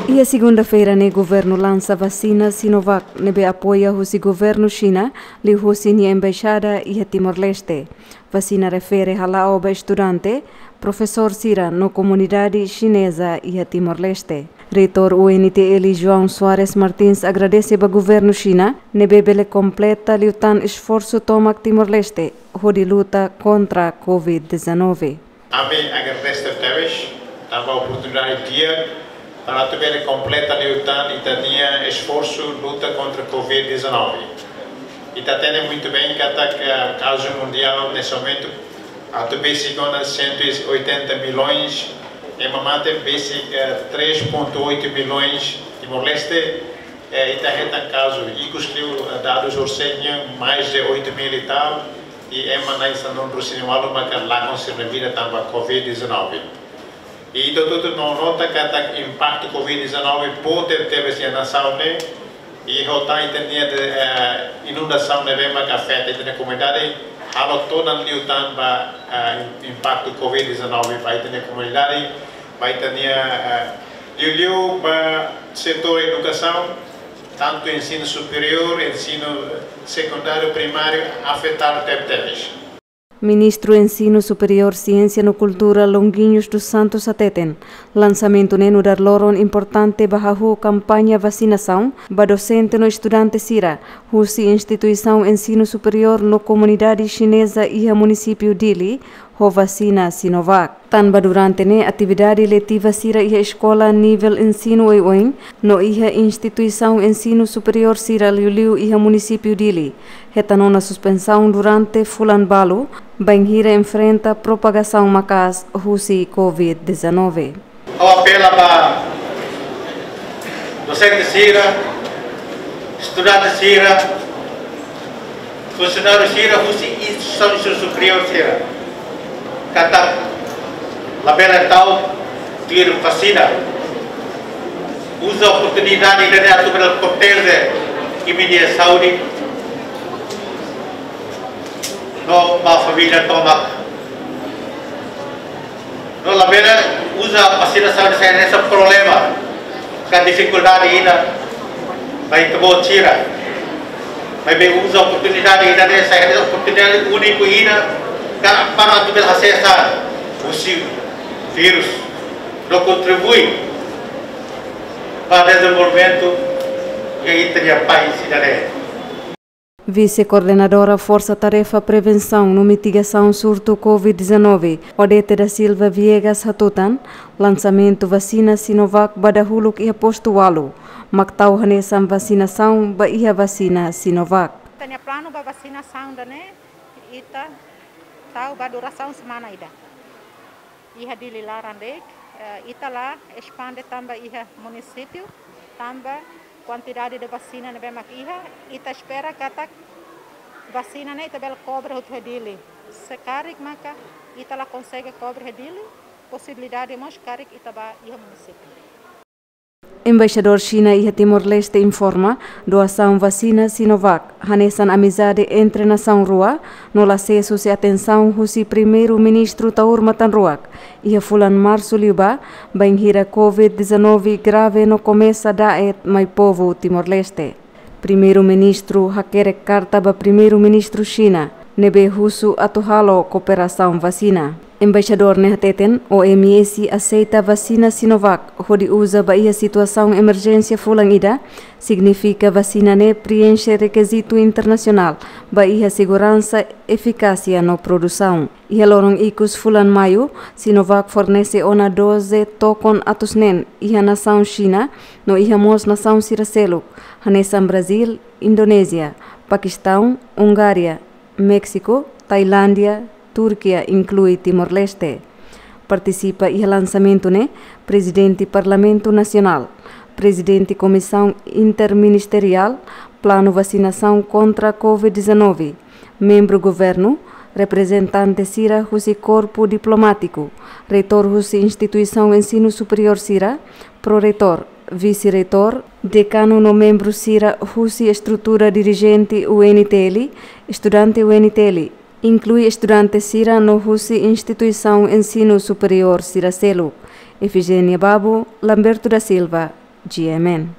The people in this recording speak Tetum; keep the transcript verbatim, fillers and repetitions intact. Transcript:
Iha segunda-feira ne'e governu lansa vasina Sinovac ne'ebé apoia husi governu Xina, liuhusi nia embaixada iha Timor-Leste. Vasina refere hala'o ba estudante, profesór sira no komunidade xineza iha Timor-Leste. Reitór U N T L João Soares Martins agradese ba governu Xina ne'ebé bele kompleta liután esforsu tomak Timor-Leste hodi luta kontra covid dezanove. Ami agradese tebes tanba oportunidade di'ak para atu bele kompleta liután ita-nia esforsu luta kontra covid dezanove. Ita hatene muitu bem katak, eh, kazu mundiál neste momentu atu besik ona cento e oitenta milhões, ema mate besik, eh, três ponto oito milhões Timor-Leste, eh, ita hetan kazu ikus liu, eh, dadus orsida mais de oito mil e tal, i ema na'in sanulu-resin-ualu maka lakon sira-nia vida tanba covid dezanove. I ita hotu-hotu nota katak impaktu covid dezanove boot tebes iha nasaun ne'e, i ho tan ita-nia, eh, inundasaun ne'ebé maka afeta ita-nia komunidade, halo todan liután ba, eh, impaktu covid dezanove ba ita-nia komunidade, ba ita-nia, eh, liuliu ba setór edukasaun, tantu ensinu superiór, ensinu sekundáriu, primáriu, afetadu tebetebes. Ministru Ensinu Superiór, Siénsia no Kultura Longuinhos dos Santos hateten, lansamentu ne'e nu'udar loron importante ba hahú kampaña vasinasaun ba dosente no estudante sira husi instituisaun ensinu superiór no komunidade xineza iha munisípiu Dili ho vasina Sinovac. Tanba durante ne'e atividade letiva sira iha eskola nivel ensinu oioin no iha instituisaun ensinu superiór sira liuliu iha munisípiu Dili hetan ona suspensaun durante fulan balu, bainhira enfrenta propagasaun maka'as husi covid dezanove. Ha'u apela ba dosente sira, estudante sira, funsionáriu sira husi instituisaun ensinu superiór sira katak labele ta'uk tuir vasina. Uza oportunidade ida-ne'e atu bele proteje imi-nia saúde no ba família tomak. No labele uza vasinasaun sai hanesan problema ka difikuldade ida ba ita-boot sira. Maibé uza oportunidade ida-ne'e sai hanesan oportunidade úniku ida ka para atu bele hasesa husi vírus no kontribui ba dezenvolvimentu iha ita-nia país ida-ne'e. Vise-Koordenadora Forsa Tarefa Prevensaun no Mitigasaun Surtu covid dezanove, Odete da Silva Viegas hatutan, lansamentu vasina Sinovac ba dahuluk iha postu ualu, mak tau hanesan vasinasaun ba iha vasina Sinovac. Ita-nia planu ba vasinasaun ida-ne'e, ita tau ba durasaun semana ida. Iha Dili laran de'it, eh, ita la espande tan ba iha munisípiu, tanba kuantidade de vasina ne'ebé mak iha, ita espera katak vasina ne'e ita bele kobre hotu iha Dili. Se karik maka ita la konsege kobre iha Dili, posibilidade mós karik ita ba iha munisípiu. Embaixadór Xina iha Timor-Leste informa, doasaun vasina Sinovac hanesan amizade entre nasaun rua, no la sees husi atensaun husi Primeiru-Ministru Taur Matan Ruak iha fulan Marsu liubá, bainhira covid dezanove grave no komesa da'et mai povu Timor-Leste. Primeiru-Ministru hakerek karta ba Primeiru-Ministru Xina ne'ebé husu atu halo kooperasaun vasina. Embaixadór ne'e hateten, O M S aseita vasina Sinovac hodi uza ba iha situasaun emerjénsia fulan ida, signifika vasina ne'e preenxe rekizitu internasionál ba iha seguransa, efikásia no produsaun. Iha loron ikus fulan Maiu, Sinovac fornese ona doze tokon atus neen iha nasaun Xina no iha mós nasaun sira seluk, hanesan Brazíl, Indonézia, Pakistaun, Ungária, Méxiku, Tailándia, Turkia, inklui Timor-Leste. Partisipa iha lansamentu ne'e Prezidente Parlamentu Nasionál, Prezidente Komisaun Interministeriál Planu Vasinasaun kontra covid dezanove, membru governu, reprezentante sira husi korpu diplomátiku, reitór husi instituisaun ensinu superiór sira, proreitór, vise-reitór, dekanu no membru sira husi estrutura dirijente U N T L, estudante U N T L, inklui estudante sira no husi instituisaun ensinu superiór sira seluk. Efigenia Babu, Lamberto da Silva, G M N.